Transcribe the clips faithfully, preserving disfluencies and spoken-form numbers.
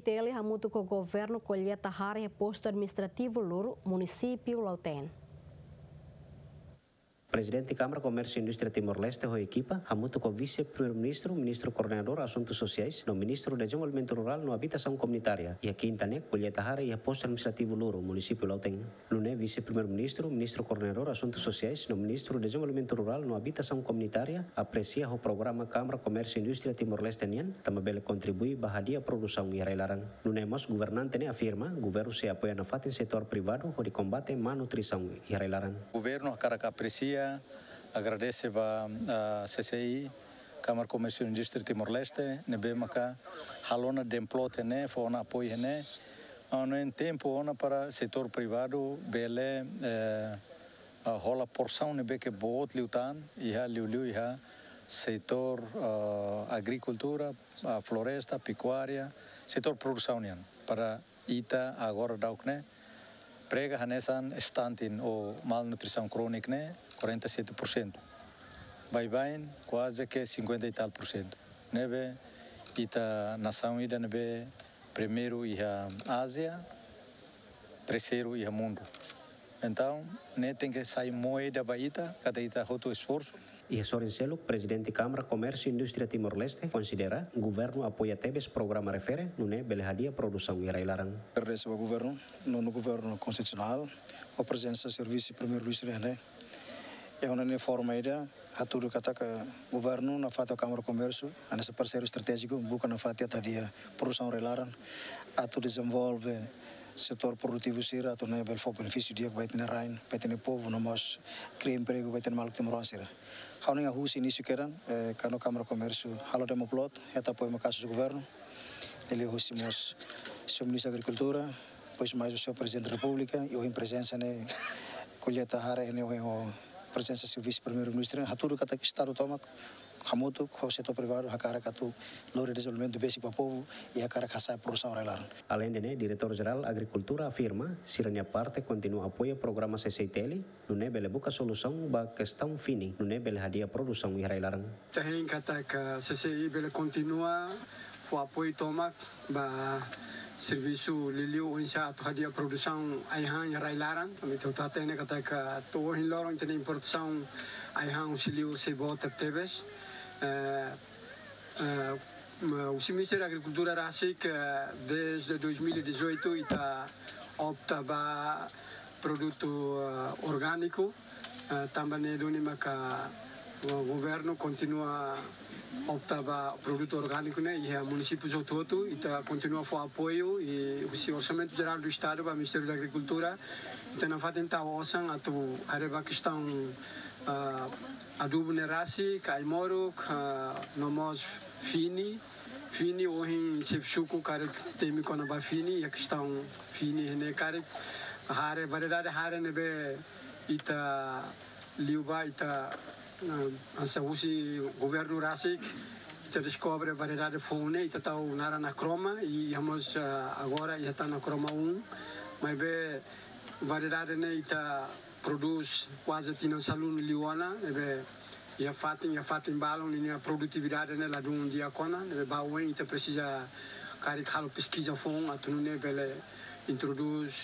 T L hamutuk ho governu kolleita hare iha postu administrativu Luru, munisípiu Lautém. Prezidente Kámara Komérsiu Indústria Timor-Leste ho ekipa hamutuk ho Vise-Primeiru-Ministru, Ministru Koordenadór Asuntu Sosiais no Ministru Dezenvolvimentu Rurál no Abitasaun Komunitária iha kinta ne'e kolleita hare iha postu administrativu Luru, munisípiu Lautém. Nune'e Vise-Primeiru-Ministru, Ministru Koordenadór Asuntu Sosiais no Ministru Dezenvolvimentu Rurál no Abitasaun Komunitária apresia ho programa Kámara Komérsiu Indústria Timor-Leste nian, tanba bele kontribui ba hadi'a produsaun iha rai-laran. Nune'e mós governante ne'e afirma governu sei apoia nafatin setór privadu hodi kombate má nutrisaun iha rai-laran. Governu hakarak apresia, agradese ba, ah, C C I, Kámara Komérsiu Indústria Timor-Leste, ne'ebé maka halo ona demplot ne'e, fó ona apoiu ne'e, ah, no tempu ona para setór privadu bele, eh, ah, hola porsaun ne'ebé ke boot liután, iha liuliu iha setór, ah, agrikultura, ah, floresta, pekuária, setór produsaun nian. Para ita agora daudaun ne'e prega hanesan stunting ou malnutrisaun krónika ne'e quarenta e sete por cento. Baibain kuaze ke cinquenta e tal por cento. Ne'ebé ita nasaun ida ne'ebé primeiru iha Ázia, terseiru iha mundu. Entaun, ne'e tenke sai moeda ba ita, katak ita hotu esforsu. Iha sorin seluk, Prezidente Kámara Komérsiu Indústria Timor-Leste konsidera governu apoia tebes programa refere, nune'e bele hadi'a produsaun iha rai-laran. Agradese ba governu, nonu governu konstitusionál, ho prezensa Servisu Primeiru-Ministru ne'e. Iha ona ne'e forma ida, hatudu katak governu nafatin ho Kámara Komérsiu, hanesan parseiru estratéjiku, buka nafatin atu hadi'a produsaun rai-laran, atu dezenvolve setór produtivu sira, atu nune'e bele fó benefísiu di'ak ba ita-nia rain, ba ita-nia povu, no mós kria empregu ba ita-nia maluk timoroan sira. Ha'u hanoin husi inísiu kedan, eh, kuandu Kámara Komérsiu halo demplot, hetan apoiu maka'as husi governu, liuliu husi mós Señór Ministru Agrikultura, depois mais o Señór Prezidente da Repúblika, i ohin prezensa ne'e kolleita hare ne'e ohin ho prezensa Señór Vise-Primeiru-Ministru, hatudu katak Estadu tomak hamutuk ho setór privadu hakarak atu lori dezenvolvimentu besik ba povu i hakarak hasa'e produsaun rai-laran. Aleinde ne'e, Diretór Jerál Agrikultura afirma, sira-nia parte kontinua apoia programa C C I T L, nune'e bele buka solusaun ba kestaun fini, nune'e bele hadi'a produsaun iha rai-laran. Ita hein katak C C I bele kontinua fó apoiu tomak ba servisu liuliu oinsá atu hadi'a produsaun ai-han iha rai-laran. Ami atu hatene katak to'o ohin loron ita-nia importasaun ai-han husi liur sei boot tebes. Eh, eh, ma, husi Ministériu Agrikultura rasik, eh, dezde dois mil e dezoito ita opta ba produtu, eh, orgániku, eh, tanba ne'e duni maka, eh, governu kontinua opta ba produtu orgániku ne'e iha munisípiu hotu-hotu, ita kontinua fó apoiu i husi Orsamentu Jerál do Estadu ba Ministériu da Agrikultura, ita nafatin tau osan atu haree ba kestaun, eh, adubu ne'e rasik, ai-moruk, eh, no mós fini, fini ohin xefe suku karik temi kona-ba fini, iha kestaun fini ne'e karik hare, variedade hare ne'ebé ita liu ba ita, eh, hanesan husi governu rasik, ita deskobre variedade foun ne'e, ita tau naran Acroma, i iha mós, eh, agora iha tan Acroma um, maibé variedade ne'e ita prodús kuaze tinan sanulu liu ona, ne'ebé iha fatin, iha fatin balun ninia produtividade ne'e ladún di'ak ona, ne'ebé ba oin ita presiza karik halo peskiza foun, atu nune'e bele introdús,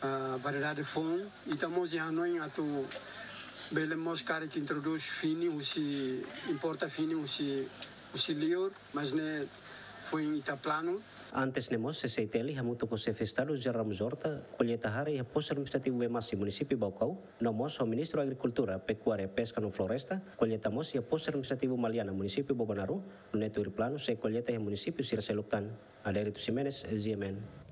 ah, variedade foun. Ita mós iha hanoin atu bele mós karik introdús fini husi, importa fini husi, husi liur, mas ne'e foin ita planu. Antes ne'e mós, C C I T L hamutuk ho Xefe Estadu José Ramos Horta kolleita hare iha postu administrativu Vemasi, munisípiu Baucau, no mós ho Ministru Agrikultura, Pekuária, Peska no Floresta kolleita mós iha postu administrativu Maliana, munisípiu Bobonaro, nune'e tuir planu sei kolleita iha munisípiu sira seluk tan. Adérito Ximenes, G M N.